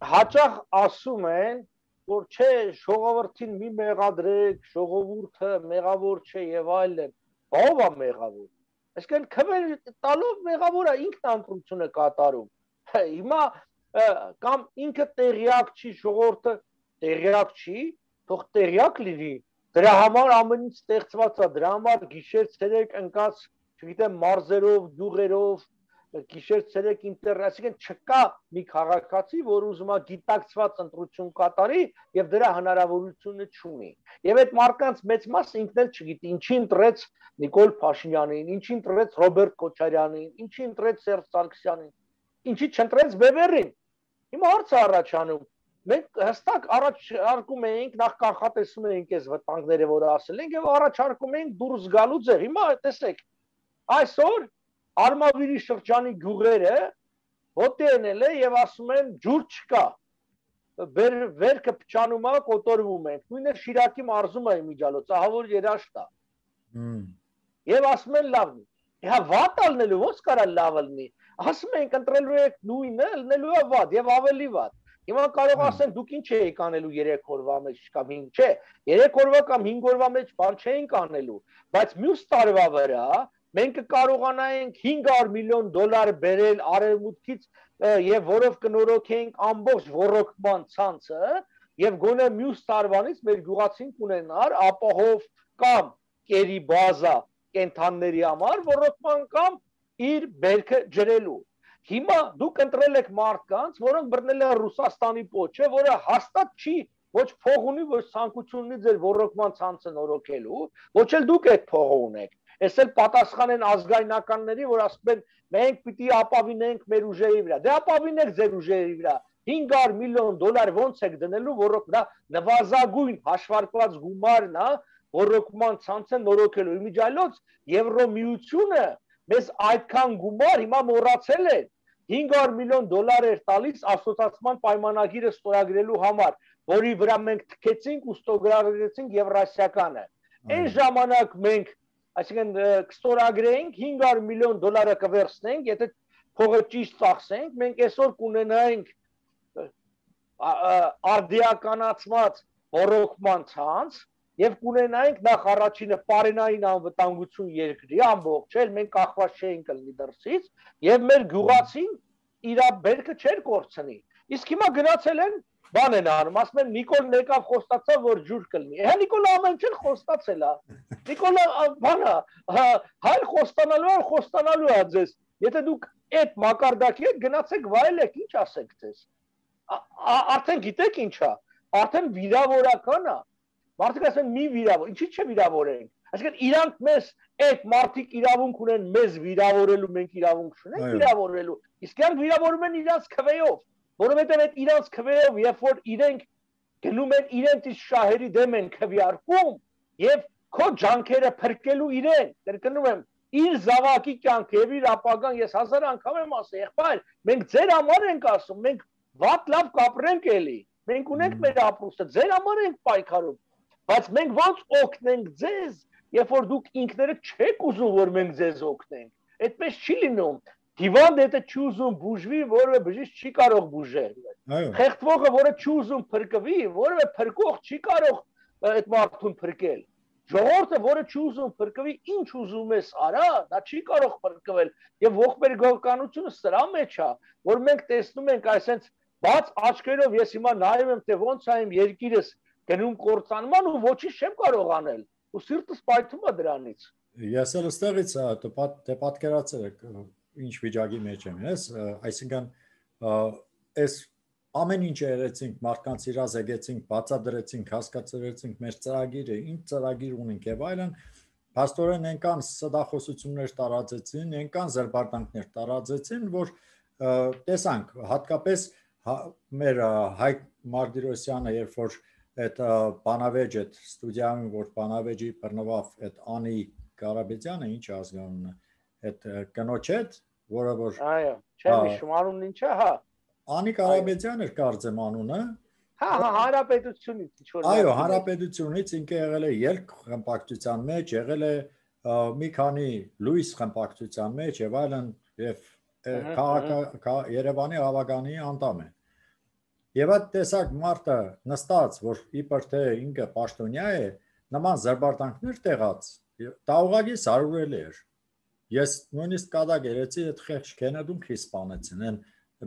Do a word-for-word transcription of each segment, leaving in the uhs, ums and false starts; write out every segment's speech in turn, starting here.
հաճախ ասում են, որ չէ, ժողովրդին մի մեղադրեք, ժողովուրդը մեղավոր չէ եւ այլն։ Ո՞վ է մեղավոր։ Այսինքն քվեր տալով մեղավորը ինքն ընտրությունը կատարում։ Հիմա կամ ինքը տեղյակ չի, ժողովուրդը տեղյակ չի, թող տեղյակ լինի։ Դրա համար ամեն ինչ ստեղծված է, դրա համար գիշեր ցերեկ ընկած, չգիտեմ, մարզերով, գյուղերով, գիշեր ցերեկ ինտերնետ, այսինքն չկա մի քաղաքացի, որ ուզում է գիտակցված ընտրություն կատարի եւ դրա հնարավորությունը չունի։ Եվ այդ մարդկանց մեծ մասը ինքն էլ չգիտի, ինչի ընտրեց Նիկոլ Փաշինյանին, ինչի ընտրեց Ռոբերտ Քոչարյանին, ինչի ընտրեց Սերժ Սարգսյանին, ինչի չընտրեց Բեբերին։ Հիմա հարց է առաջանում։ Մենք հստակ առաջարկում էինք, նախ կանխատեսում էինք այս վտանգները, որ ասել ենք, եւ առաջարկում էինք դուրս գալու ձև։ Հիմա տեսեք, այսօր Արմավիրի շրջանի գյուղերը հոտելել է եւ ասում են ջուր չկա։ Վերքը փչանում է, կոտորվում ենք։ Նույնը Շիրակի մարզում է իմիջալոց, ահա որ երաշտ է։ Եվ ասում են լավն է։ Հա վատ ալնելու ո՞նց կարա լավ լինի։ Ասում ենք ընտրելու եք նույնը, լնելու է վատ եւ ավելի վատ։ Հիմա կարող ասեն դուք ինչ եք անելու երեք օրվա մեջ կամ հինգ, չէ, երեք օրվա կամ հինգ օրվա մեջ բան չենք անելու, բայց մյուս տարվա վրա մենք կարողանայինք հինգ հարյուր միլիոն դոլար բերել արևմուտքից եւ որով կնորոգենք ամբողջ ռոռոկման ցանցը եւ գոնե մյուս տարվանից մեր գյուղացին կունենար ապահով կամ կերի բազա կենթանների համար ռոռոկման կամ իր բերքը ջրելու։ Հիմա դուք ընտրել եք մարդկանց, որոնք բռնել են Ռուսաստանի պոչը, որը հաստատ չի ոչ փող ունի, ոչ ցանկություն ունի ձեր ռոռոկման ցանցը նորոգելու, ոչ էլ դուք այդ փողը ունեք։ Այս էլ պատասխան են ազգայնականների, որ ասում են մենք պիտի ապավինենք մեր ուժերի վրա։ Դե ապավինեք ձեր ուժերի վրա։ հինգ հարյուր միլիոն դոլար ոնց եք դնելու, որոնք դա նվազագույն հաշվարկված գումարն է, ռոռոկման ցանցը նորոգելու։ Իմիջիայլոց Եվրոմիությունը մեզ այդքան գումար հիմա մոռացել է։ հինգ հարյուր միլիոն դոլար էր տալիս ասոցիացիան պայմանագիրը ստորագրելու համար, որի վրա մենք թքեցինք ու ստորագրեցինք Եվրասիականը։ Այն ժամանակ մենք, այսինքն կստորագրեինք հինգ հարյուր միլիոն դոլարը կվերցնենք, եթե փողը ճիշտ ծախսենք, մենք այսօր կունենայինք արդիականացված ռոռոկման ցանց եւ կունենայինք նախ առաջինը պարենային անվտանգություն երկրի ամբողջ, էլ մենք կախված չէինք լինի դրսից եւ մեր գյուղացին իր բերքը չէր կորցնի։ Իսկ հիմա գնացել են բան են անում, ասում են Նիկոլ եկավ խոստացավ, որ ջուր կլինի։ Հա Նիկոլը ամեն ինչ խոստացել է։ Նիկոլը բանա, հայ խոստանալու է, խոստանալու է ձեզ։ Եթե դուք այդ մակարդակի հետ գնացեք վայելեք, ինչ ասեք ձեզ։ Արդեն գիտեք ինչա, արդեն վիրավորական է։ Մարդիկ ասեն մի վիրավոր, ինչի՞ չէ վիրավորենք։ Այսինքն իրանք մեզ այդ մարդիկ իրավունք ունեն մեզ վիրավորելու, մենք իրավունք չունենք վիրավորելու։ Իսկ իրանք վիրավորում են իրանց քվեով, որովհետև այդ իրանց քվեով, երբ որ իրենք գնում են իրենց շահերի դեմ են քվեարկում եւ քո ջանքերը փրկելու իրեն, կրկնում եմ, իր զավակի կյանքը եւ իր ապագան ես հազար անգամ եմ ասել, եղբայր, մենք ձեր համար ենք ասում, մենք վատ լավ կապրենք էլի, մենք ունենք մեր ապրուստը, ձեր համար ենք պայքարում, բայց մենք ոնց օգնենք ձեզ, երբ որ դուք ինքներդ չեք ուզում, որ մենք ձեզ օգնենք, այդպես չի լինում, հիվանդ եթե չի ուզում բուժվի, որը բժիշկ չի կարող բուժել, խեղդվողը, որը չի ուզում փրկվի, որը փրկող չի կարող այդ մարդուն փրկել, ժողովուրդը, որը չի ուզում փրկվի, ինչ ուզում ես արա, դա չի կարող փրկվել, եւ ողբերգականությունը սրա մեջ է, որ մենք տեսնում ենք այսպես բաց աչքերով ես հիմա նայում եմ, թե ոնց է իմ երկիրս գնում կործանման ու ոչինչ չեմ կարող անել, ու սիրտս պայթում է դրանից։ Ես էլ ստեղից դե պատկերացրել եք ինչ վիճակի մեջ եմ ես, այսինքն այս ամեն ինչ երեցինք, մարդկանց իրազեկեցինք, բացատրեցինք, հասկացրեցինք մեր ծրագիրը, ինչ ծրագիր ունենք եւ այլն, փաստորեն այնքան սդախոսություններ տարածեցին, այնքան զրբարտանքներ տարածեցին, որ տեսանք, հատկապես մեր Հայկ Մարտիրոսյանը, երբ որ այդ բանավեճ այդ ստուդիայում, որ բանավեճի բռնվավ այդ Անի Կարապետյանը, ինչ ազգանունն է, այդ կնոջ հետ, որը որ այո, չեմ հիշում անունն ինչ է, հա Անի Կարապետյան էր կարծեմ անունը։ Հա, հա, հանրապետությունից ինչ որ։ Այո, հանրապետությունից ինքը եղել է ելք խմբակցության մեջ, եղել է մի քանի լույս խմբակցության մեջ եւ այլն եւ Երևանի ավագանի անդամ է։ Եվ այդ տեսակ մարդը նստած, որ իբր թե ինքը պաշտոնյա է, նման զրբարտանքներ տեղած, դա ուղղակի սարուրելի էր։ Ես նույնիսկ կադակ երեցի այդ խեղճ Քենեդուն քիչ սպանեցին, են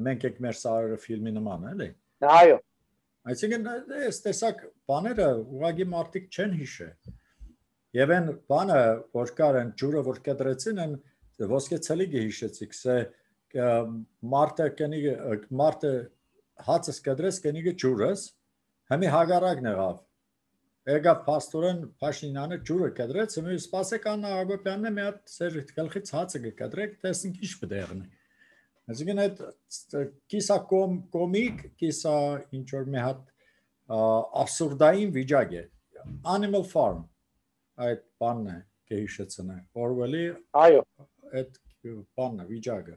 մենք եք մեր սարերը ֆիլմի նման, էլի։ Այո։ Այսինքն այս տեսակ բաները ուղղակի մարդիկ չեն հիշե։ Եվ այն բանը, որ կար են ջուրը, որ կտրեցին, են ոսկե ցելիգը հիշեցիք, սե մարդը կենի մարդը հացս կտրեց կենիգը ջուրս, հիմի հագարակն եղավ։ Եկավ փաստորեն Փաշինյանը ջուրը կտրեց, հիմա սպասեք Աննա Հակոբյանն է մի հատ սեր գլխից հացը կտրեք, տեսնենք ինչ բդեղնի։ Այսինքն այդ կիսա կոմիկ, կիսա ինչ որ մի հատ absurdային վիճակ է։ Animal Farm այդ բանն է կհիշեցնե Օրվելի այո այդ բանն է վիճակը